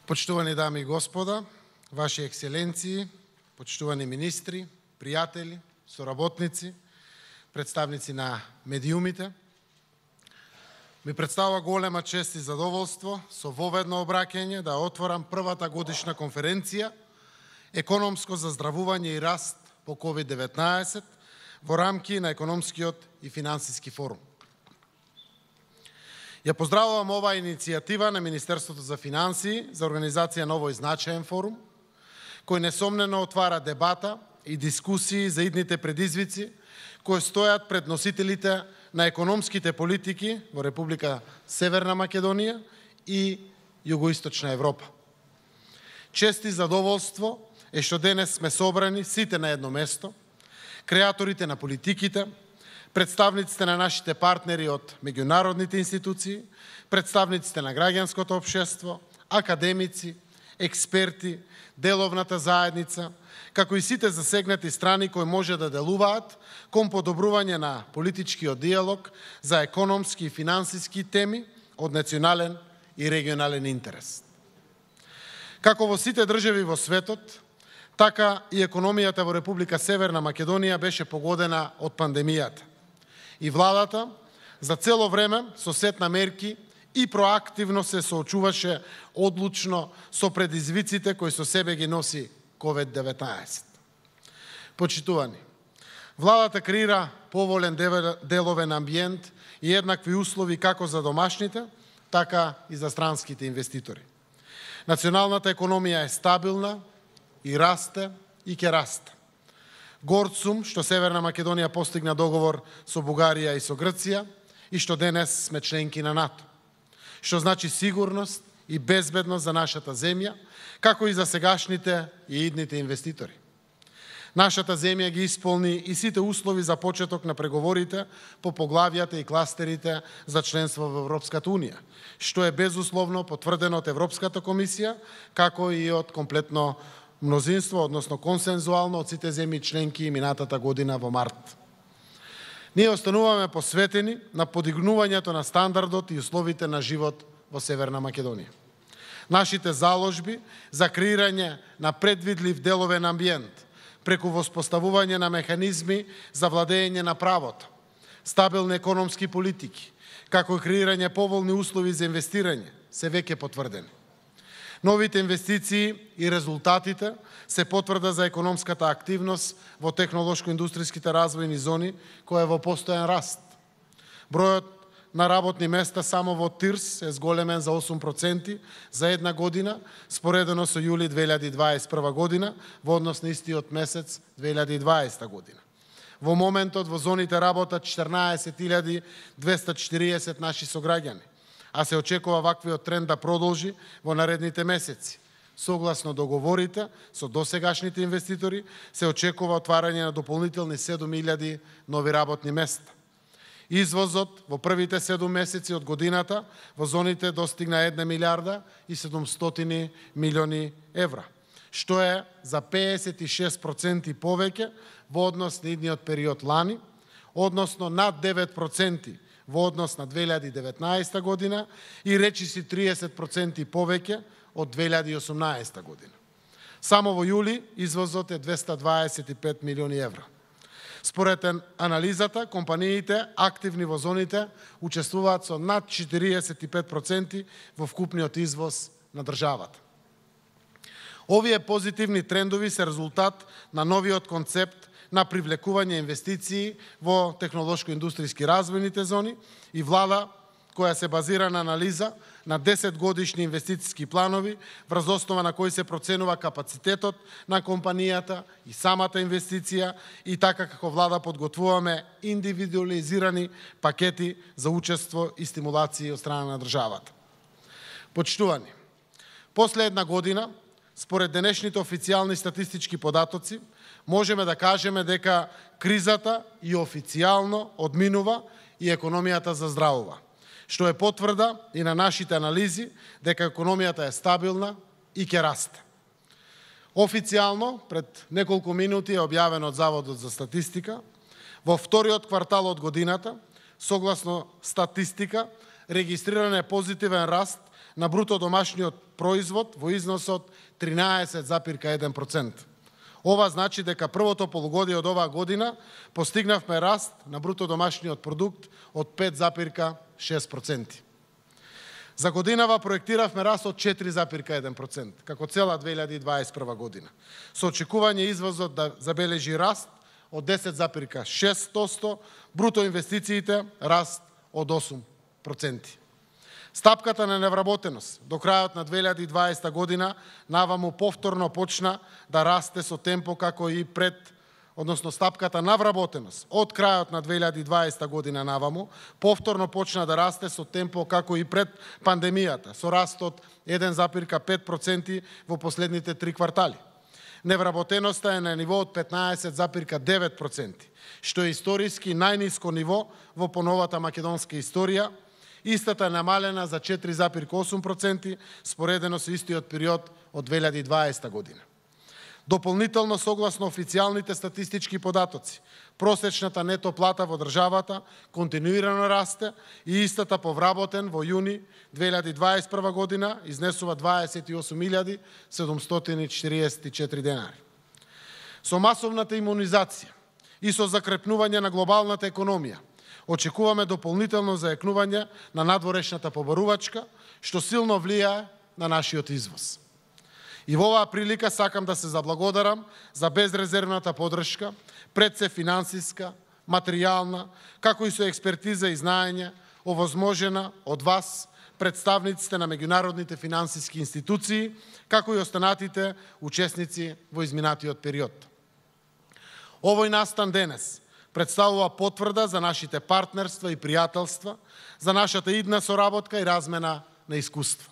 Почитувани дами и господа, Ваши екселенции, почитувани министри, пријатели, соработници, представници на медиумите, ми представува голема чест и задоволство со воведно обраќање да отворам првата годишна конференција Економско заздравување и раст по COVID-19 во рамки на економскиот и финансиски форум. Ја поздравувам оваа иницијатива на Министерството за финансии за организација на овој значаен форум, кој несомнено отвара дебата и дискусии за идните предизвици кои стојат пред носителите на економските политики во Република Северна Македонија и Југоисточна Европа. Чест и задоволство е што денес сме собрани сите на едно место, креаторите на политиките, представниците на нашите партнери од меѓународните институции, представниците на граѓанското општество, академици, експерти, деловната заедница, како и сите засегнати страни кои може да делуваат кон подобрување на политичкиот диалог за економски и финансиски теми од национален и регионален интерес. Како во сите држави во светот, така и економијата во Република Северна Македонија беше погодена од пандемијата. И владата за цело време со сет на мерки и проактивно се соочуваше одлучно со предизвиците кои со себе ги носи COVID-19. Почитувани, владата креира поволен деловен амбиент и еднакви услови како за домашните, така и за странските инвеститори. Националната економија е стабилна и расте и ќе расте. Горд сум што Северна Македонија постигна договор со Бугарија и со Грција и што денес сме членки на НАТО, што значи сигурност и безбедност за нашата земја, како и за сегашните и идните инвеститори. Нашата земја ги исполни и сите услови за почеток на преговорите по поглавјата и кластерите за членство во Европската Унија, што е безусловно потврдено од Европската комисија, како и од комплетно мнозинство, односно консензуално од сите земји членки минатата година во март. Ние остануваме посветени на подигнувањето на стандардот и условите на живот во Северна Македонија. Нашите заложби за креирање на предвидлив деловен амбиент, преку воспоставување на механизми за владење на правото, стабилни економски политики, како и креирање поволни услови за инвестирање, се веќе потврдени. Новите инвестиции и резултатите се потврда за економската активност во технолошко-индустријските развојни зони, која е во постојан раст. Бројот на работни места само во ТИРС е зголемен за 8% за една година, споредено со јули 2021 година, во однос на истиот месец 2020 година. Во моментот во зоните работат 14.240 наши сограѓани, а се очекува ваквиот тренд да продолжи во наредните месеци. Согласно договорите со досегашните инвеститори, се очекува отварање на дополнителни 7.000 нови работни места. Извозот во првите 7 месеци од годината во зоните достигна 1 милиарда и 700 милиони евра, што е за 56% повеќе во однос на идниот период лани, односно над 9% во однос на 2019 година и речиси 30% повеќе од 2018 година. Само во јули извозот е 225 милиони евра. Според анализата, компаниите активни во зоните учествуваат со над 45% во вкупниот извоз на државата. Овие позитивни трендови се резултат на новиот концепт на привлекување инвестиции во технолошко-индустријски развојните зони и влада која се базира на анализа на 10 годишни инвестициски планови, врз основа на кои се проценува капацитетот на компанијата и самата инвестиција и така како влада подготвуваме индивидуализирани пакети за учество и стимулации од страна на државата. Почитувани, после една година, според денешните официјални статистички податоци, можеме да кажеме дека кризата и официјално одминува и економијата заздравува, што е потврда и на нашите анализи дека економијата е стабилна и ќе расте. Официјално, пред неколку минути е објавено од Заводот за статистика, во вториот квартал од годината, согласно статистика, регистриран е позитивен раст на бруто домашниот производ во износот 13,1%. Ова значи дека првото полугодие од оваа година постигнавме раст на бруто домашниот продукт од 5,6%. За годинава проектиравме раст од 4,1%, како цела 2021 година. Со очекување извозот да забележи раст од 10,6%, бруто инвестициите раст од 8%. Стапката на невработеност до крајот на 2020 година наваму повторно почна да расте со темпо како и пред, односно стапката на вработеност од крајот на 2020 година наваму повторно почна да расте со темпо како и пред пандемијата, со раст од 1,5% во последните 3 квартали. Невработеноста е на ниво од 15,9%, што е историски најниско ниво во поновата македонска историја. Истата е намалена за 4,8% споредено со истиот период од 2020 година. Дополнително, согласно официјалните статистички податоци, просечната нето плата во државата континуирано расте и истата по вработен во јуни 2021 година изнесува 28.744 денари. Со масовната имунизација и со закрепнување на глобалната економија, очекуваме дополнително зајакнување на надворешната побарувачка, што силно влијае на нашиот извоз. И во оваа прилика сакам да се заблагодарам за безрезервната поддршка, пред се финансиска, материјална, како и со експертиза и знаење, овозможена од вас, представниците на меѓународните финансиски институции, како и останатите учесници во изминатиот период. Овој настан денес представува потврда за нашите партнерства и пријателства, за нашата идна соработка и размена на искуства.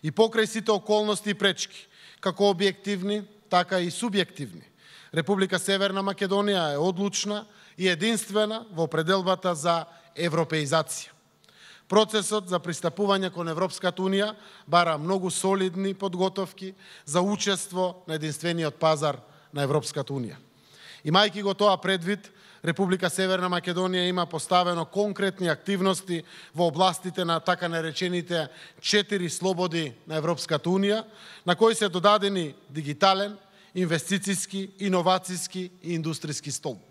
И покрај сите околности и пречки, како објективни, така и субјективни, Република Северна Македонија е одлучна и единствена во определбата за европеизација. Процесот за пристапување кон Европската Унија бара многу солидни подготовки за учество на единствениот пазар на Европската Унија. Имајќи го тоа предвид, Република Северна Македонија има поставено конкретни активности во областите на така наречените 4 слободи на Европската Унија, на кои се додадени дигитален, инвестициски, иновацијски и индустријски столб.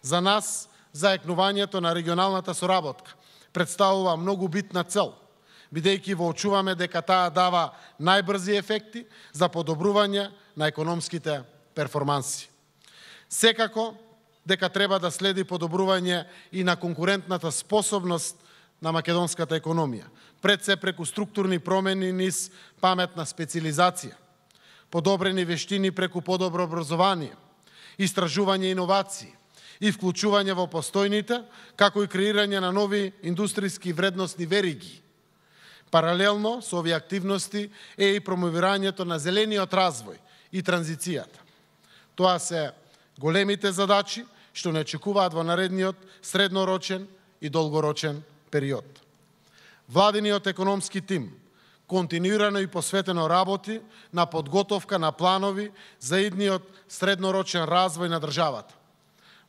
За нас, заекнувањето на регионалната соработка представува многу битна цел, бидејќи воочуваме дека таа дава најбрзи ефекти за подобрување на економските перформанси. Секако, дека треба да следи подобрување и на конкурентната способност на македонската економија, пред се преку структурни промени низ паметна специализација, подобрени вештини преку подобро образование, истражување и иновации и вклучување во постојните, како и креирање на нови индустријски вредносни вериги. Паралелно со овие активности е и промовирањето на зелениот развој и транзицијата. Тоа се големите задачи што не очекуваат во наредниот среднорочен и долгорочен период. Владиниот економски тим континуирано и посветено работи на подготовка на планови за идниот среднорочен развој на државата.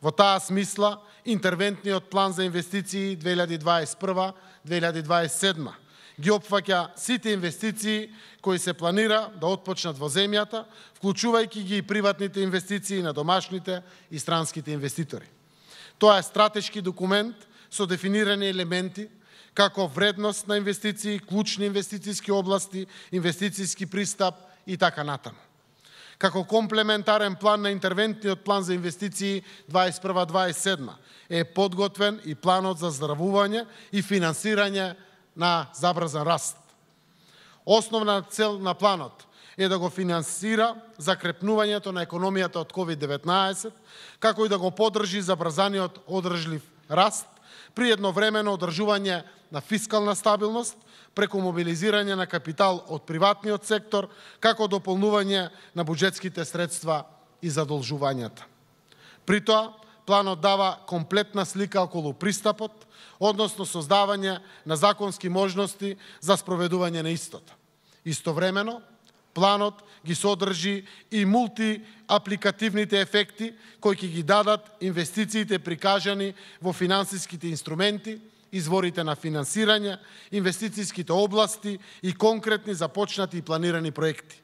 Во таа смисла, интервентниот план за инвестиции 2021-2027 ги опфаќа сите инвестиции кои се планира да отпочнат во земјата, вклучувајќи ги и приватните инвестиции на домашните и странските инвеститори. Тоа е стратешки документ со дефинирани елементи како вредност на инвестиции, клучни инвестицијски области, инвестицијски пристап и така натаму. Како комплементарен план на интервентниот план за инвестиции 2021-2027 е подготвен и планот за здравување и финансирање на забрзан раст. Основна цел на планот е да го финансира закрепнувањето на економијата од COVID-19, како и да го поддржи забрзаниот одржлив раст при едновремено одржување на фискална стабилност преку мобилизирање на капитал од приватниот сектор, како дополнување на буџетските средства и задолжувањата. При тоа, планот дава комплетна слика околу пристапот, односно создавање на законски можности за спроведување на истота. Истовремено, планот ги содржи и мултиапликативните ефекти кои ќе ги дадат инвестициите прикажани во финансиските инструменти изворите на финансирање, инвестицијските области и конкретни започнати и планирани проекти.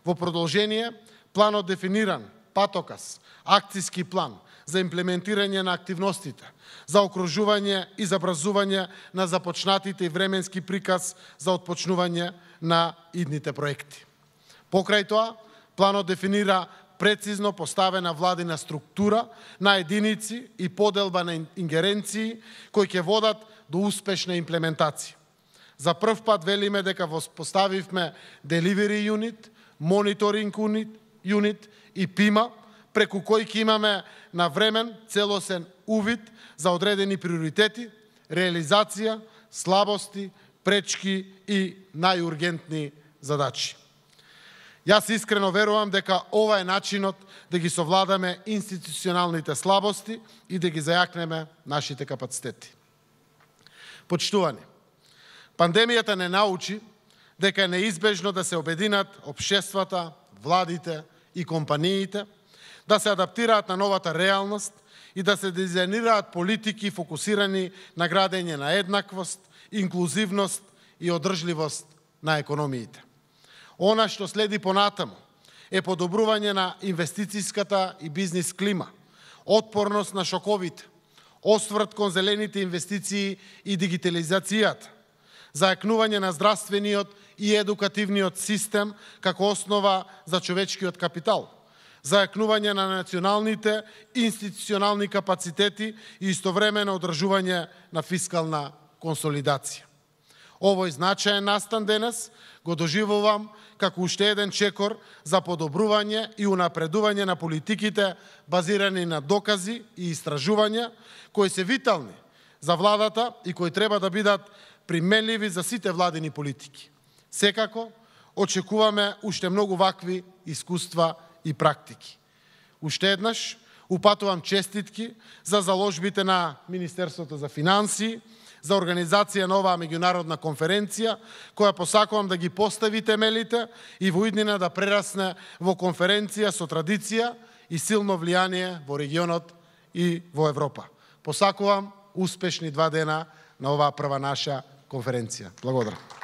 Во продолжение, планот дефиниран патоказ, акцијски план за имплементирање на активностите, за окружување и забрзување на започнатите и временски приказ за отпочнување на идните проекти. Покрај тоа, планот дефинира прецизно поставена владина структура на единици и поделба на ингеренции кои ќе водат до успешна имплементација. За прв пат велиме дека поставивме Delivery Unit, Monitoring Unit и ПИМА, преку кои ќе имаме навремен целосен увид за одредени приоритети, реализација, слабости, пречки и најургентни задачи. Јас искрено верувам дека ова е начинот да ги совладаме институционалните слабости и да ги зајакнеме нашите капацитети. Почитувани, пандемијата не научи дека е неизбежно да се обединат општествата, владите и компаниите, да се адаптираат на новата реалност и да се дизајнираат политики фокусирани на градење на еднаквост, инклузивност и одржливост на економиите. Она што следи понатаму е подобрување на инвестицијската и бизнис клима, отпорност на шоковите, осврт кон зелените инвестиции и дигитализацијата, зајакнување на здравствениот и едукативниот систем како основа за човечкиот капитал, зајакнување на националните институционални капацитети и истовремено одржување на фискална консолидација. Овој значаен настан денес го доживувам како уште еден чекор за подобрување и унапредување на политиките базирани на докази и истражувања кои се витални за владата и кои треба да бидат применливи за сите владини политики. Секако, очекуваме уште многу вакви искуства и практики. Уште еднаш, упатувам честитки за заложбите на Министерството за финансии, за организација на оваа меѓународна конференција, која посакувам да ги постави темелите и во иднина да прерасне во конференција со традиција и силно влијание во регионот и во Европа. Посакувам успешни 2 дена на оваа прва наша конференција. Благодарам.